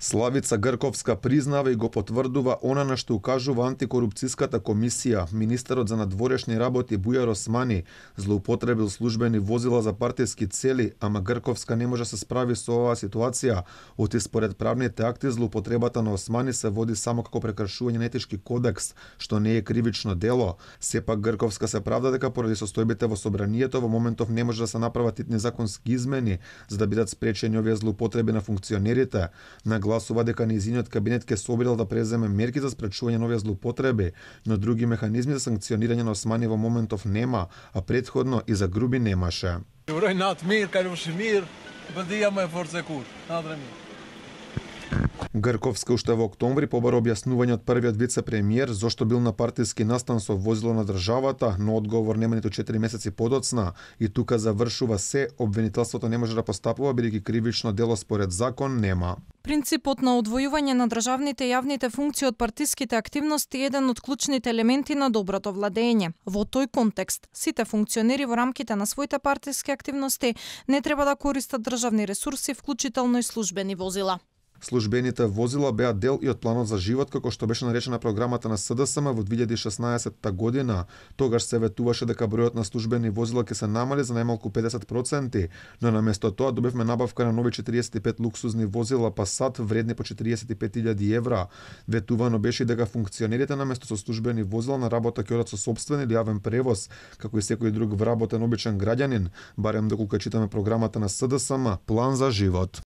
Славица Грковска признава и го потврдува она на што укажува антикорупцијската комисија. Министерот за надворешни работи Бујар Османи злоупотребил службени возила за партиски цели, ама Грковска не може се справи со оваа ситуација. Оти според правните акти злоупотребата на Османи се води само како прекршување на етички кодекс, што не е кривично дело. Сепак Грковска се правда дека поради состојбите во собранието во моментов не може да се направат итни законски измени за да бидат спречени овие злоупотреби на функционерите. Нагласува дека нејзиниот кабинет ќе се обидел да преземе мерки за спречување на овие злоупотреби, но други механизми за санкционирање на Османи во моментов нема, а претходно и за груби немаше. Uroj natë mirë, kalofshi mirë, përdia më e fortë se kur. Natën e mirë. Грковска уште во октомври побара објаснување од првиот вице-премиер зошто бил на партиски настан со возило на државата, но одговор нема ниту 4 месеци подоцна и тука завршува се, обвинителството не може да постапува бидејќи кривично дело според закон нема. Принципот на одвојување на државните и јавните функции од партиските активности е еден од клучните елементи на доброто владење. Во тој контекст, сите функционери во рамките на своите партиски активности не треба да користат државни ресурси, вклучително и службени возила. Службените возила беа дел и од планот за живот, како што беше наречена програмата на СДСМ во 2016 година. Тогаш се ветуваше дека бројот на службени возила ќе се намали за најмалку 50%, но наместо тоа добивме набавка на нови 45 луксузни возила Passat вредни по 45.000 евра. Ветувано беше дека функционерите наместо со службени возила на работа ќе одат со сопствен или јавен превоз, како и секој друг вработен обичен граѓанин, барем доколку читаме програмата на СДСМ План за живот.